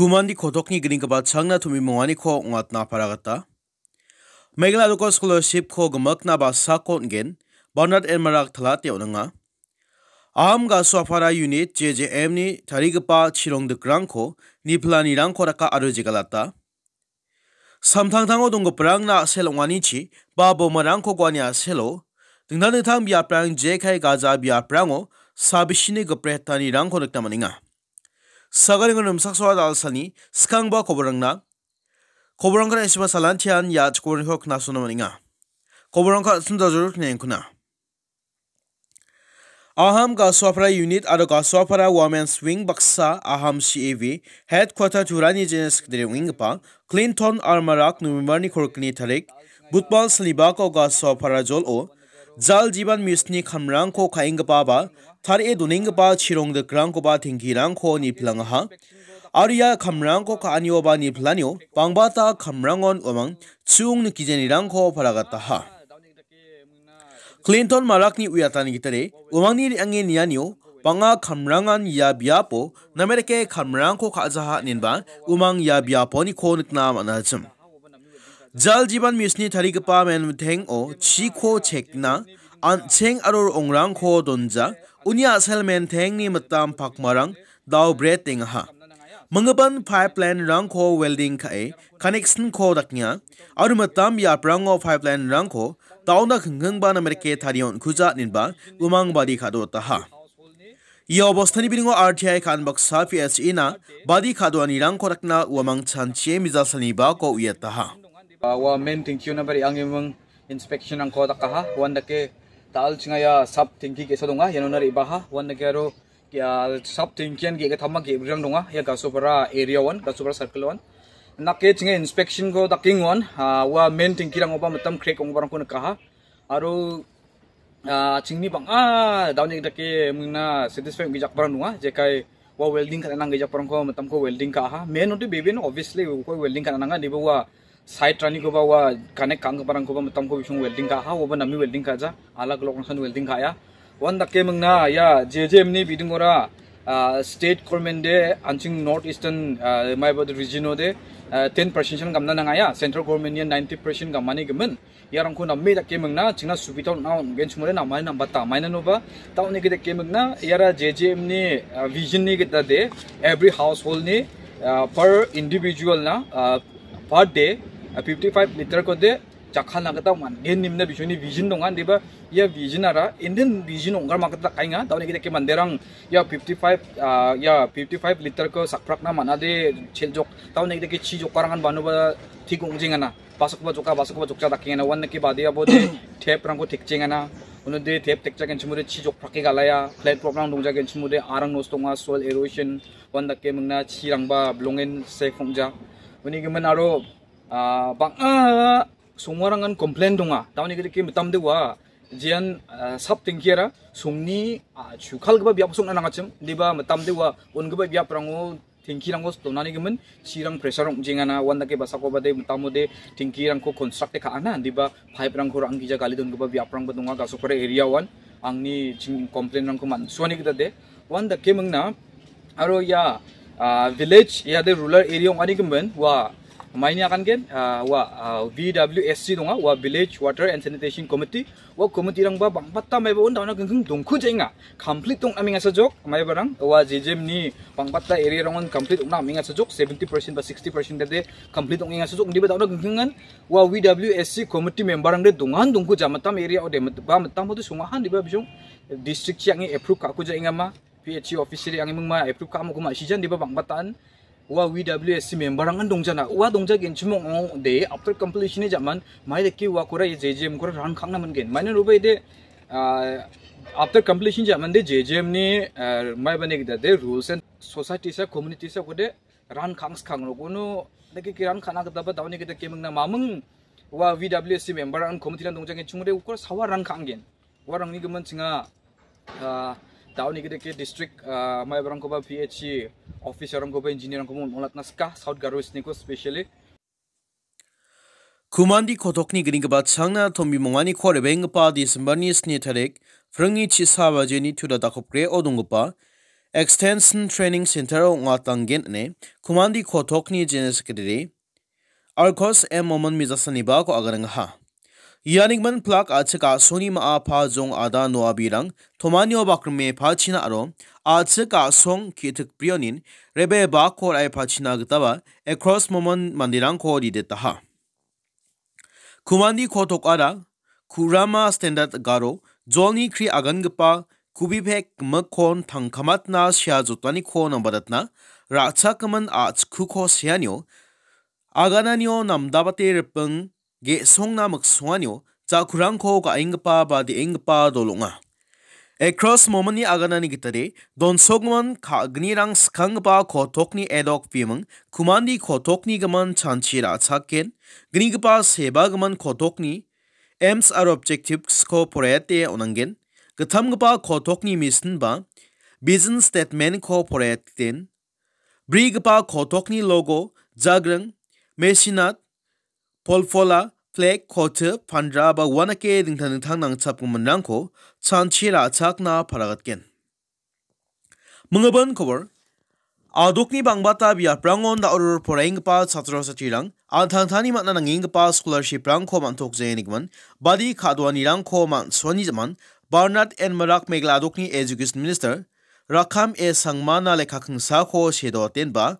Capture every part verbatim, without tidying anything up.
Kumandi kotokni gringipa changna tomi monganiko ong·atna para gita. Meghalaya Local Scholarship-ko gimikna basako on·gen, Bernard Elmarak talate on·enga. Aham Gasoapara Unit J J M-ni tarigipa chirongdikrangko niplanirangko raka aro jegalata. Samtangtango donggiparangna a·sel ong·anichi ba bomarangko guani a·selo dingtang dingtang biaprang jekai gaja biaprango sabisini gipretanirangko nikna man·enga. Sagaringo nimsaksoa dalsani skangba koborangna, koborangko na·siba salantian ia chikoborangko knasona man·enga. Koborangko an·sung dajor knengkuna. Aham Gasoapara Unit aro Gasoapara Women's Wing baksa Aham C A V Headquarter Turani General Secretary ong·enggipa Clinton Almarak November-ni kolgni tarik, Budbal salibako Gasoapara jolo Jal Jiban Mission-ni kamrangko ka·enggipa ba tarie donenggipa chirongdikrangkoba tengkirangko niplangaha. Aro ia kamrangko ka·anio ba niplanio bangbata kamrangon uamang chu·ong nikijanirangko paragataha. Clinton Marakni uiatani gitade, uamangni re·ange nianio bang·a kamrangan ia biapo namerike kamrangko ka·jaha inenba umang ia biaponiko nikna man·achim. Jal Jiban Mission-ni tarigipa menteng-o chiko chekna an·cheng aro ro·ongrangko donja, uni a·sel mentengni mitam pakmarang dao bret tengaha. Minggipan pipeline-rangko welding ka·e connection-ko dakenga, aro mitam biaprango pipeline-rangko daona kingkingba namerike tarie on·kuja inenba umang badi ka·dotaha. Ia obostani biringo R T I ka·an baksa P H E-na badi ka·doanirangko dakna uamang chanchie mijalsalnibako uiataha. Ah, ua main tengkio nabar iangemang inspection-rangko dakaha, uandake ta·al chinga ia sub tengki ge·sa donga, ianona re·baha, uandake aro ia sub tengkian ge·gittamma ge·brirang donga, ia Gasopara area-on, Gasopara circle-on. Nake chinga inspection-ko dakengon, ah, ua main tengkirangoba mitam crack ong·giparangko nikaha. Aro, ah, chingni bang·a daoni dake mingna satisfy ong·gijakbarang donga, jekai ua welding ka·na nanggijakrangko mitamko welding ka·aha. Main ong·de bebe no obviously uko welding ka·na nanga, indiba ua side-ranikoba ua connect ka·anggiparangkoba mitamko bisong welding ka·aha, uaba name welding ka·ja, alag alog rangsan welding ka·a. Uandake mingna ia J J M-ni bidingora, ah, state government de an·ching North Eastern, ah, maiba region-o de, ah, ten percent-san gamna nangaya, central government-ni ninety percent gamani gimin. Iarangko name dake mingna chingna subida on·a on·gen chimode namai nambata. Mainanoba, ta·onike dake mingna, iara J J M-ni, ah, vision-ni gita de, every household-ni, ah, per individual-na, ah, per day, ah, fifty-five liter-ko de, jakkalna gita man·gen nimna bisoni vision donga, indiba ia vision-ara Indian vision ong·garma gita dakaenga. Ta·onike dake manderang ia fifty-five, ah, ia fifty-five liter-ko sakprakna man·ade cheljok. Ta·onike dake chi jokkarangan banoba thik ong·jengana. Basakoba joka, basakoba jokja dakengana. Uandake badiabode tap-rangko tekjengana. Unode tap tekjagenchimode chi jokprake galaya. Flat prop-rang dongjagenchimode arang nosto ong·a, soil erosion. Uandake mingna chirangba bilongen safe ong·ja. Uni gimin aro, ah, bang·a songmarangan complain donga. Ta·onike dake mitamde ua jean, ah, sub tengkiara songni, ah, chukalgipa biapko song·na nangachim. Indiba mitamde ua on·gipa biaprango tengkirangko donani gimin chirang pressure ong·jengana, uandake basakoba de mitamode tengkirangko construct-e ka·ana, indiba pipe-rangko ra·anggija gali dongipa biaprangba donga, Gasopara area-oan angni ching complain-rangko man·suani gita de. Uandake mingna, aro ia, ah, village, ia de rural area ong·ani gimin, ua maini agangen, ah, ua, ah, V W S C donga, ua Village Water and Sanitation Committee, ua committee-rangba bang·bata maiba on dauna gingking dongkujaenga. Complete ong·na mengasajok, maibarang, ua J J M-ni bang·bata area-rangon complete ong·na mengasajok, seventy percent ba sixty percent de complete ong·engasajok, indiba dauna gingkingan, ua V W S C committee member-rangde dongan dongkuja mitam area-ode, mit-, ba mitamode songahan diba bisong district chiang approve ka·kujaengama, P H E office-re ange mingma approve ka·amoko ma·sijan diba bang·bataan. Ua V W S C member-rangan dongjana. Ua dongjagenchimong ong·de after completion-ni jaman, maidake uakora ia J J M-kora ran ka·angna man·gen. Mainanoba ide, ah, after completion jaman de J J M-ni, ah, maibani gita de rules and society sa community sa kode ran ka·angskang rok. Uno dake ki ran ka·na gitaba daoni gita kemingna maming ua V W S C member-rangan committee-rang dongjagenchimode ukora sawa ran ka·anggen. Uarangni gimin chinga, ah, daoni gita ke district, ah, maibarangkoba P H E officer-rangkoba engineer-rangkoba on·, on·atna sika, South Garo Hills-niko specially. Kumandi kotokni gnigipa changna tombimonganiko rebenggipa December-ni sni tarik, pringni chisa bajeni tuda dakopgreo donggipa Extension Training Center-o ong·atanggen ine Kumandi Kotokni General Secretary Arkos M Momon Mijasanibako aganangaha. Ianigimin plak a·chik a·songni ma·a pajong ada noabirang tomanio bakrime pachina aro a·chik a·song ki·tik brionin rebe bako ra·e pachina gitaba Ekros Momon manderangko ridetaha. Kumandi Kotokara, Kurama Standard Garo, jolni kri agangipa kubipek gimikkon tangkamatna sea jotaniko nambadatna, ra·chakgimin a·chikkuko seanio, agananio namdabate ripeng ge·songna miksonganio, ja·kurangko ga·enggipa ba de·enggipa dol ong·a. Ekros Momoni aganani gitade, donsokmon ka·gnirang skanggipa Kotokni edok biming, Kumandi Kotokni gimin chanchi ra·chaken, gnigipa sebagimin Kotokni aims aro objectives-ko poraiate on·angen, gittamgipa Kotokni mission ba vision statement-ko poraiaten, brigipa Kotokni logo, jagring, mesinat, polpola, flag, kote, pandra ba uanake dingtang dingtang nangchapgiminrangko chanchi ra·chakna paragatgen. Mingibin kobor, adokni bangbata biaprangon da·oror poraienggipa chatro chatrirang an·tangtangni man·a nangenggipa scholarship-rangko man·tokjengenigimin badi ka·doanirangko man·suani jaman Bernard N Marak Meghalaya adokni Education Minister Rakkam A Sangmana lekka kingsako sedoatenba,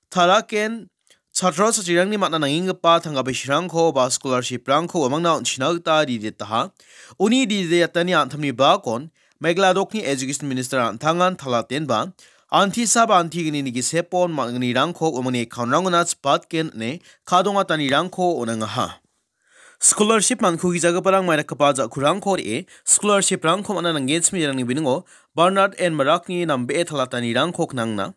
Taraken chatro chatrirangni man·a nangenggipa tangka bisirangko ba scholarship-rangko uamangna on·china gita ridetaha. Uni ridetani an·tamni bakon Meghalaya adokni Education Minister an·tangan talatenba, antisa ba antignini gisepon man·gnirangko uamangni account-rangona chipatgen ine kadongatanirangko on·angaha. Scholarship man·kugijagiparang maidakgipa ja·kurangko re·e, scholarship-rangko man·a nanggenchim iarangni biningo Bernard N Marakni nambee talatanirangko knangna.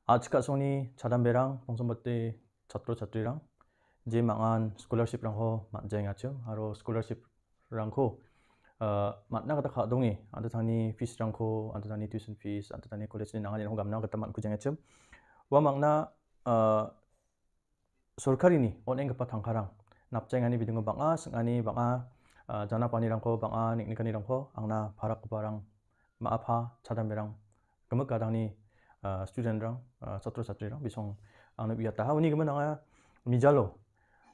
A·chik a·songni chadamberang, pongsombate chatro chatrirang, je mangan scholarship-rangko man·jaengachim, aro scholarship-rangko, ah, man·na gita ka·donge, an·tangtangni fees-rangko, an·tangtangni tuition fees, an·tangtangni college-ni nanganirangko gamna gita man·kujaengachim. Ua mangna, ah, sorkarini on·enggipa tangkarang napjaengani bidingo bang·a sing·ani, bang·a, ah, janapanirangko, bang·a neng·nikanirangko angna parakgiparang ma·a-pa chadamberang gimik gadangni, ah, student-rang, ah, chatro chatrirang bisong angna uiataha. Uni gimin anga mijalo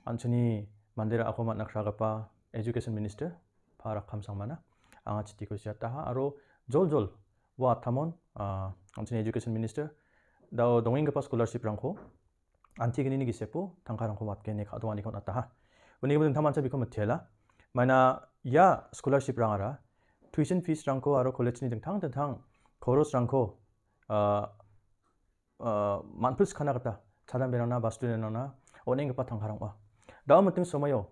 an·chingni mande ra·ako man·a kragipa Education Minister Pa Rakkam Sangmana anga chitiko siataha aro joljol ua atamon, ah, an·chingni Education Minister dao dongenggipa scholarship-rangko antignini gisepo tangkarangko watgene ka·donganiko on·ataha. Uni gimin dingtangmancha biko mitela. Maina ia scholarship-rangara tuition fees-rangko aro college-ni dingtang dingtang korosrangko, ah, ah, man·pilskana gita chadamberangna ba student-rangna on·enggipa tangkarang ong·a. Dao miting somoio,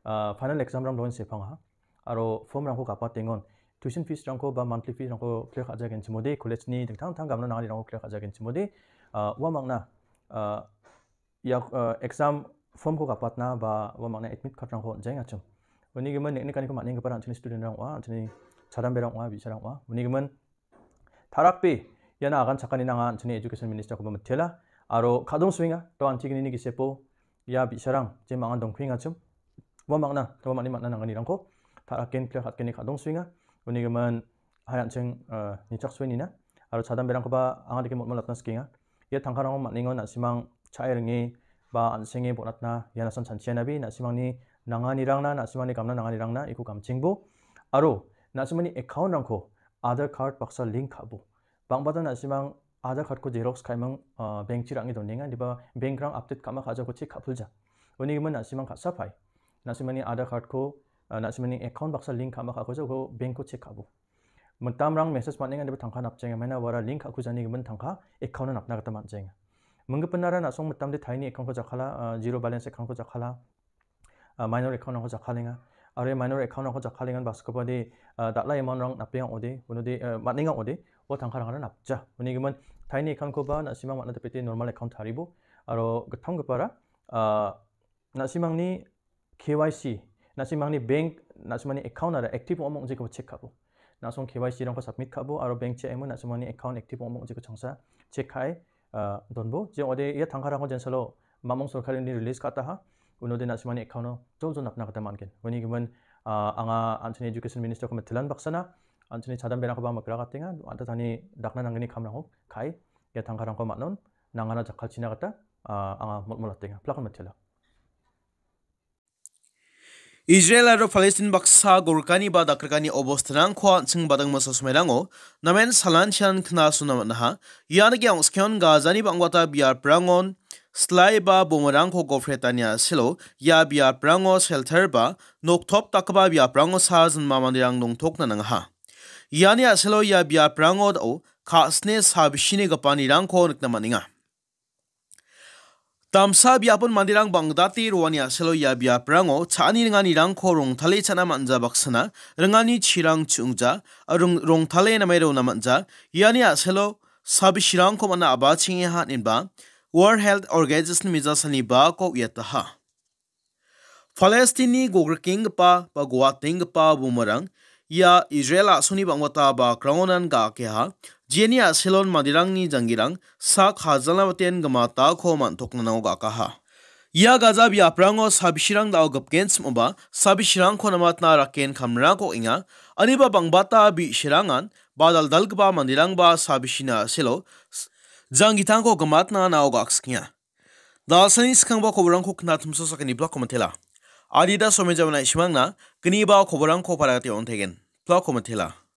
ah, final exam-rang dongensepang ong·a. Aro form-rangko gapatengon, tuition fees-rangko ba monthly fees-rangko clear ka·jagenchimode, college-ni dingtang dingtang gamna nanganirangko clear ka·jagenchimode, ah, ua mangna, ah, ia, ah, exam form-ko gapatna ba ua mangna admit card-rangko on·jaengachim. Uni gimin neng·nikaniko man·enggipa an·chingni student-rang ong·a, an·chingni chadamberang ong·a, bi·sarang ong·a. Uni gimin tarakbe iana agan chakani nanga an·chingni Education Minister-koba mitela. Aro kadongsoenga, to antignini gisepo ia bi·sarang je mangan dongkuengachim. Ua mangna, ua mani man·a nanganirangko taraken clear ka·atgeni kadongsoenga. Uni gimin hai an·ching, eh, nichaksoe nina. Aro chadamberangkoba anga dake motmotlatna sikenga. Ia tangkarangko man·engon na·simang cha·e ringe ba an·senge bonatna ia nasan chanchianabe na·simangni nanganirangna, na·simangni gamna nanganirangna iko gamchengbo. Aro na·simangni account-rangko Aadhaar card baksa link ka·bo. Bang·bata na·simang Aadhaar card-ko xerox ka·eming, ah, bank-chi ra·nge donenga, indiba bank-rang update ka·ma ka·jako check ka·pilja. Uni gimin na·simang ka·sapae. Na·simangni Aadhaar card-ko, ah, na·simangni account baksa link ka·ma ka·akoja uko bank-ko check ka·bo. Mitamrang message man·enga, indiba tangka napjaenga. Maina uara link ka·kujani gimin tangka account-o napna gita man·jaenga. Minggipinara na·song mitamde taini account-ko jakala, ah, zero balance account-ko jakala, ah, minor account-rangko jakkalenga. Aro ia minor account-rangko jakkalengan baskopade, ah, dal·a amount-rang napenga ong·ode, unode, ah, man·enga ong·ode, ua tangkarangara napja. Uni gimin taini account-koba na·simang man·a dipete normal account taribo. Aro gittamgipara, ah, na·simangni K Y C, na·simangni bank, na·simangni account-ara active ong·a ong·jikoba check ka·bo. Na·song K Y C-rangko submit ka·bo aro bank-chi aimo na·simangni account active ong·a ong·jiko changsa check ka·e, ah, donbo. Je ong·ode ia tangkarangko jensalo mamung sorkarini release ka·ataha. Unode na·simangni account-o joljol napna gita man·gen. Uni gimin, ah, anga an·chingni Education Minister-ko mitilan baksana, an·chingni chadamberangkoba mikragatenga, an·tangtangni dakna nanggni kamrangko ka·e, ia tangkarangko man·on nangana jakkalchina gita, ah, anga mol·molatenga. Plakon mitela. Israel aro Palestin baksa gorkani ba dakrikani obostarangko an·ching badang masa somoirango namen salanchian knasona man·aha. Ian ge ong·skeon Gazani bang·bata biaprangon slai ba bomarangko gopretania selo ia biaprango shelter ba noktop dakgipa biaprango sa jinma manderang dongtokna nangaha. Iani a·selo ia biaprango dao ka·sne sabisini gipanirangko nikna man·enga. Damsa biapon manderang bang·date roani a·selo ia biaprango cha·ani ringanirangko rongtale cha·na man·ja baksana ringani chirang chu·ongja, rong-, rongtale name rona man·ja. Iani a·selo sabisirangko man·a abachengeha inba World Health Organization mijasani bako uiataha. Palestinni gogrikenggipa ba guatenggipa bomarang ia Israel a·songni bang·bata bakrangonan ga·akeha, jeni a·selon manderangni janggirang sak hajalna baten gimatako man·toknanao ga·akaha. Ia gaja biaprango sabisirang dao gipgen sim·oba, sabisirangko namatna raken kamrako ong·enga, aniba bang·bata bi·sirangan ba dal·dalgipa manderangba sabisina a·selo s-, janggitangko gimatna nao ga·akskienga. Dalsani skangba koborangko knatumso sakani blako mitela. Adida somejamana isimangna gniba koborangko paragate on·tegen. Blako mitela.